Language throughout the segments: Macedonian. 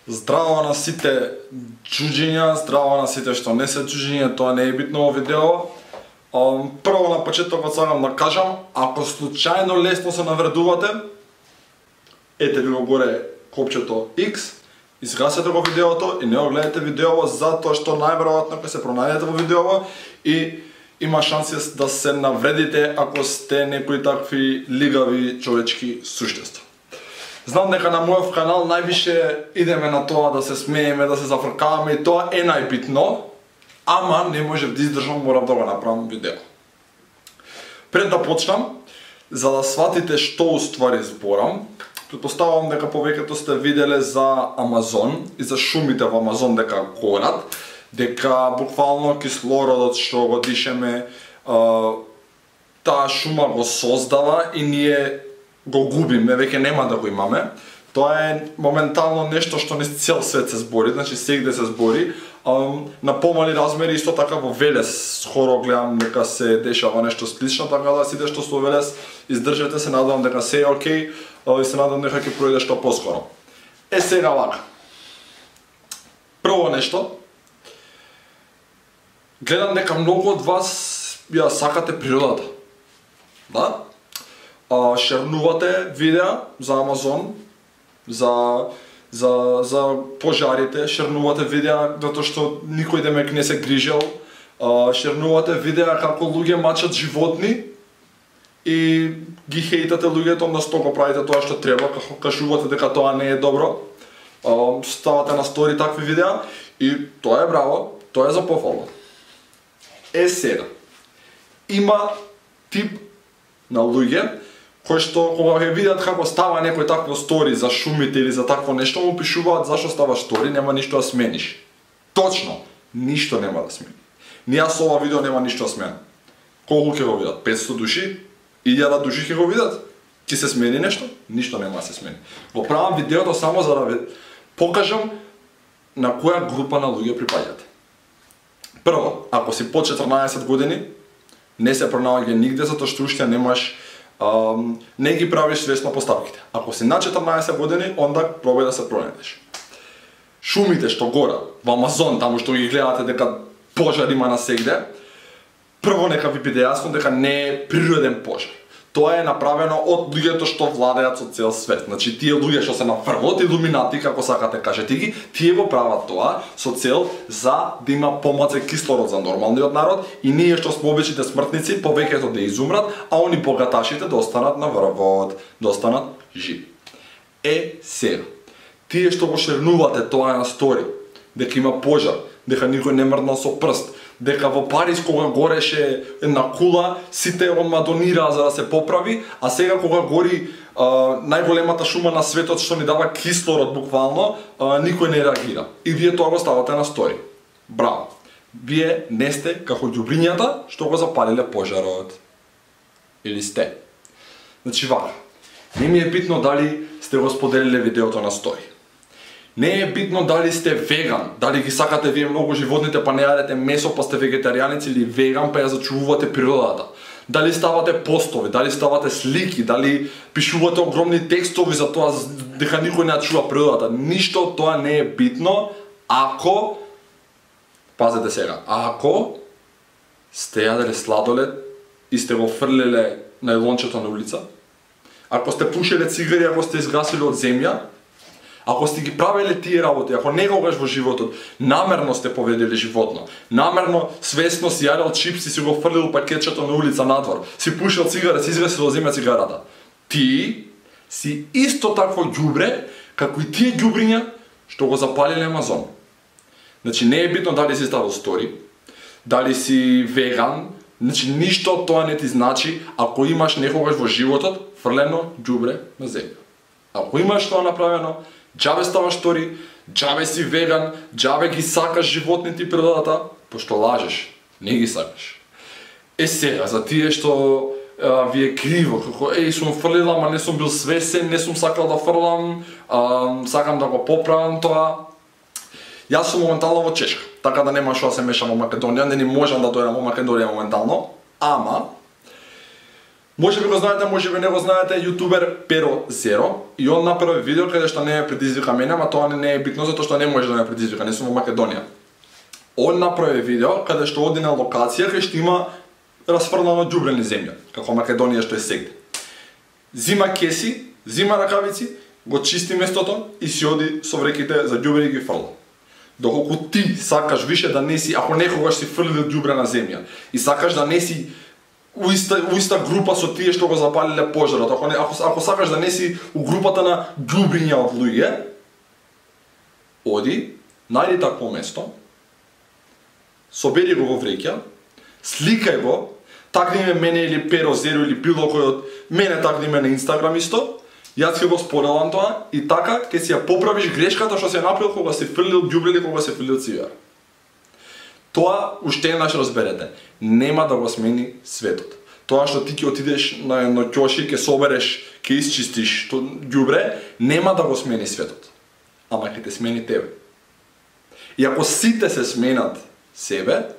Здраво на сите чуџиња, здраво на сите што не се чуџиња, тоа не е битно во видео. Прво на почетокот сакам да кажам, ако случајно лесно се навредувате, ете ви го горе копчето X, изгасете го видеото и не го гледате видеово затоа што најверојатно ќе се пронајдете во видеово и има шанси да се навредите ако сте некои такви лигави човечки суштества. Знам дека на мојов канал највише идеме на тоа да се смееме, да се зафркаваме и тоа е најбитно, ама не можев да издржам, морам да го направам видео. Пред да почнам, за да сватите што уствари зборам, претпоставувам дека повеќето сте виделе за Амазон и за шумите во Амазон дека горат, дека буквално кислородот што го дишеме, таа шума го создава и ние го губиме, веќе нема да го имаме. Тоа е моментално нешто што низ цел свет се збори, значи сегде се збори. На помали размери исто така во Велес скоро гледам дека се дешава нешто слично, така да сите што со Велес издржете се, надевам дека се е окей и се надевам дека ќе пројде што поскоро. Сега вака. Прво нешто, гледам дека многу од вас ја сакате природата. Да? Шернувате видеа за Амазон, за пожарите, шернувате видеа затоа што никој демек не се грижел, шернувате видеа како луѓе мачат животни и ги хейтате луѓето, односно го правите тоа што треба, како кажувате дека тоа не е добро, ставате на стори такви видеа и тоа е браво, тоа е за пофалба. Сега, има тип на луѓе кои што кога ќе видат како става некој такво стори за шумите или за такво нешто, му пишуваат зашто става стори, нема ништо да смениш. Точно, ништо нема да смени. Ни јас ова видео нема ништо да сменам. Колку ќе го видат? 500 души? 1000 души ќе го видат? Ќе се смени нешто? Ништо нема да се смени. Го правам видеото само за да ви покажам на која група на луѓе припаѓате. Прво, ако си по 14 години, не се пронаоѓа нигде затоа што уште немаш не ги правиш свесно поставките. Ако си на 14 години, онда пробај да се пронајдеш. Шумите што горат во Амазон, таму што ги гледате дека пожар има насегде, прво нека ви биде јасно дека не е природен пожар. Тоа е направено од луѓето што владеат со цел свет. Значи тие луѓе што се на врвот, илуминати, како сакате кажете ги, тие го прават тоа со цел за да има помалку кислород за нормалниот народ и ние што сме обичните смртници повеќето да изумрат, а они богаташите да останат на врвот, да останат живи. Сега, тие што го шернувате тоа на стори, дека има пожар, дека никој не мрднал со прст, дека во Париз кога гореше една кула, сите одма донираа за да се поправи, а сега кога гори најголемата шума на светот што ни дава кислород буквално, никој не реагира. И вие тоа го ставате на стори. Браво! Вие не сте како ѓубрињата што го запалиле пожарот. Или сте? Значи вака, не ми е битно дали сте го споделиле видеото на стори. Не е битно дали сте веган, дали ги сакате вие многу животните па не јадете месо па сте вегетаријаници или веган па ја зачувувате природата. Дали ставате постови, дали ставате слики, дали пишувате огромни текстови за тоа дека никој не ја чува природата. Ништо тоа не е битно ако, пазете сега, ако сте јаделе сладолед и сте го фрлеле најлончето на улица, ако сте пушеле цигари, ако сте изгасиле од земја, ако сте ги правеле тие работи, ако некогаш во животот намерно сте поведели животно, намерно свесно си јадел чипси, си го фрлил пакетчето на улица надвор, си пушил цигара, си изгасил од земја цигарата, ти си исто такво ѓубре како и тие ѓубриња што го запалиле Амазон. Значи не е битно дали си ставил стори, дали си веган, значи ништо тоа не ти значи ако имаш некогаш во животот фрлено ѓубре на земја. Ако имаш тоа направено, џабе ставаш стори, џабе си веган, џабе ги сакаш животните и природата, пошто лажеш, не ги сакаш. Сега, за тие што ви е криво, како сум фрлил, ама не сум бил свесен, не сум сакал да фрлам, сакам да го поправам тоа. Јас сум моментално во Чешка, така да нема што да се мешам во Македонија, не ни можам да дојдам во Македонија моментално, ама Може би го знаете, може би не го знаете, јутубер Pero Zero, и он направи видео каде што не ме предизвика мене, ама тоа не е битно затоа што не може да ме предизвика, не сум во Македонија. Он направи видео каде што оди на локација кај што има расфрлано ѓубре низ земја, како Македонија што е сегде. Зима кеси, зима ракавици, го чисти местото и си оди со вреките за ѓубре и ги фрла. Доколку ти сакаш више да не си, ако некогаш си фрлил ѓубре на земја и сакаш да не си у иста група со тие што го запалиле пожарот, ако сакаш да не си у групата на ѓубриња од луѓе, оди, најди такво место, собери го во вреќа, сликај го, такни ме мене или Pero Zero или било кој од мене такни ме на Инстаграм исто, јас ќе го споделам тоа и така ќе си ја поправиш грешката што си ја направил кога си фрлил ѓубре или кога си фрлил цигара. Тоа уште еднаш разберете, нема да го смени светот. Тоа што ти ќе отидеш на едно ќоши, ќе собереш, ќе исчистиш ѓубре, нема да го смени светот. Ама ќе те смени тебе. И ако сите се сменат себе,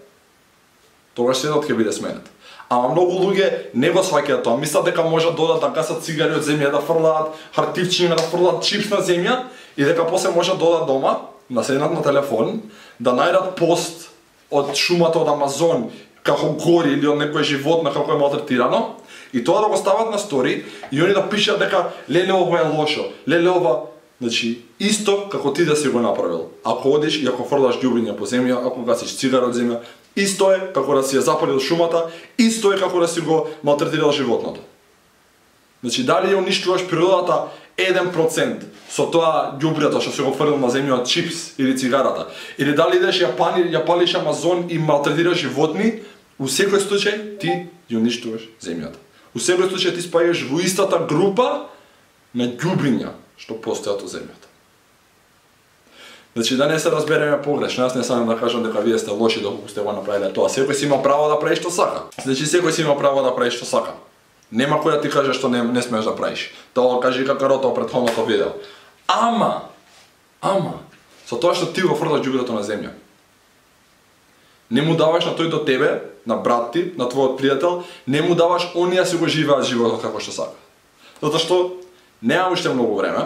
тогаш светот ќе биде сменет. Ама многу луѓе не го сваќаат тоа. Мислат дека можат додат да гасат цигари од земја, да фрлаат хартивчиња, да фрлаат чипс на земја и дека после можат додат дома, да седнат на телефон, да најдат пост од шумата од Амазон, како гори или од некој животно како е малтретирано, и тоа да го стават на стори и они да пишат дека леле ова е лошо, леле ова, значи исто како ти да си го направил. Ако одиш и ако фрлаш ѓубриња по земја, ако гасиш цигара од земја, исто е како да си ја запалил шумата, исто е како да си го малтретирал животното. Значи дали ја уништуваш природата 1% со тоа ѓубрето што се го фрлил на земја од чипс или цигарата, или дали идеш ја палиш Амазон и малтретираш животни, у секој случај ти ја уништуваш земјата. У секој случај ти спаѓаш во истата група на ѓубриња што постојат во земјата. Значи да не се разбереме погрешно, јас не сакам да кажам дека вие сте лоши доколку сте го направиле тоа. Секој си има право да прави што сака. Значи секој си има право да прави што сака. Нема кој да ти каже што не смееш да правиш. Тоа кажи Какарото претходното видео. Ама со тоа што ти го фрлаш ѓубрето на земја, не му даваш на тој до тебе, на брат ти, на твојот пријател, не му даваш оние си го живеат животот како што сака. Затоа што нема уште многу време.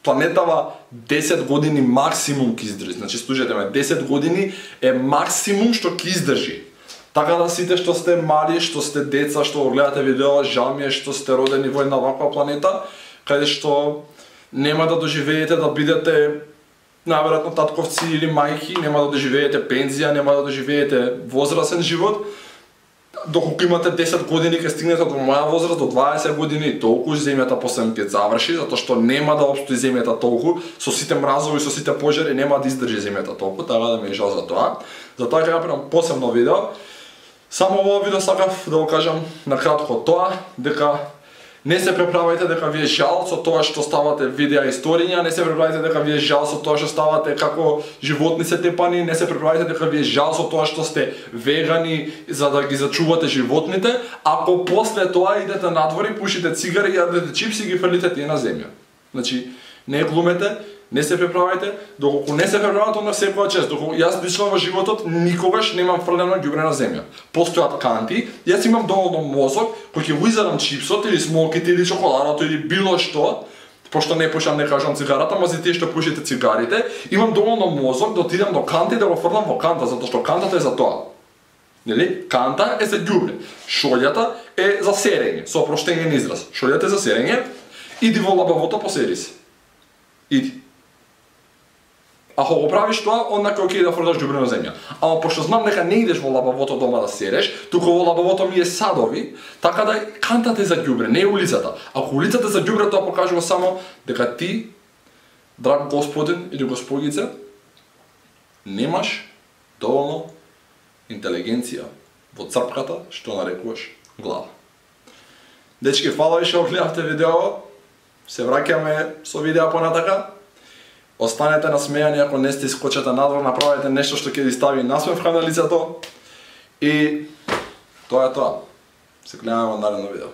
Планетава 10 години максимум ќе издржи. Значи слушајте ме, 10 години е максимум што ќе издржи. Така да сите што сте мали, што сте деца, што го гледате видео, жал ми е што сте родени во една ваква планета, каде што нема да доживеете да бидете најверојатно татковци или мајки, нема да доживеете пензија, нема да доживеете возрасен живот. Доколку имате 10 години ќе стигнете до моја возраст, до 20 години, толку земјата после ќе заврши, затоа што нема да опстои земјата толку, со сите мразови, со сите пожари, нема да издржи земјата толку, така да ми е жал за тоа. Затоа ќе направам посебно видео. Само во видео сакав да го кажам на кратко тоа, дека не се преправајте дека ви е жал со тоа што ставате видеа историња, не се преправајте дека ви е жал со тоа што ставате како животни се тепани, не се преправајте дека ви е жал со тоа што сте вегани за да ги зачувате животните, ако после тоа идете надвор и пушите цигари и јадете чипси и ги фрлите тие на земја. Значи, не глумете, не се преправајте, доколку не се преправаат онда секоја чест, доколку јас лично во животот никогаш немам фрлено ѓубре на земја. Постојат канти, јас имам доволно мозок кој ќе го изедам чипсот или смоките или чоколадото или било што, пошто не пушам, не кажам цигарата, ама за тие што пушите цигарите, имам доволно мозок да отидам до канта и да го фрлам во канта, затоа што кантата е за тоа. Нели? Канта е за ѓубре. Шолјата е за серење, со опроштениот израз. Шолјата е за серење, иди во лабавото посери се. Иди. Ако го правиш тоа, онда ќе окей да фрлаш ѓубре на земја. Ама пошто знам дека не идеш во лабавото дома да сереш, туку во лабавото ми е садови, така да кантата е за ѓубре, не е улицата. Ако улицата е за ѓубре, тоа покажува само дека ти, драг господин или госпогица, немаш доволно интелигенција во црпката што нарекуваш глава. Дечки, фала ви што гледавте видео. Се враќаме со видео понатака. Останете насмејани ако не сте искочете надвор, направете нешто што ќе ви стави насмевка на лицето. И тоа е тоа. Се гледаме во наредно видео.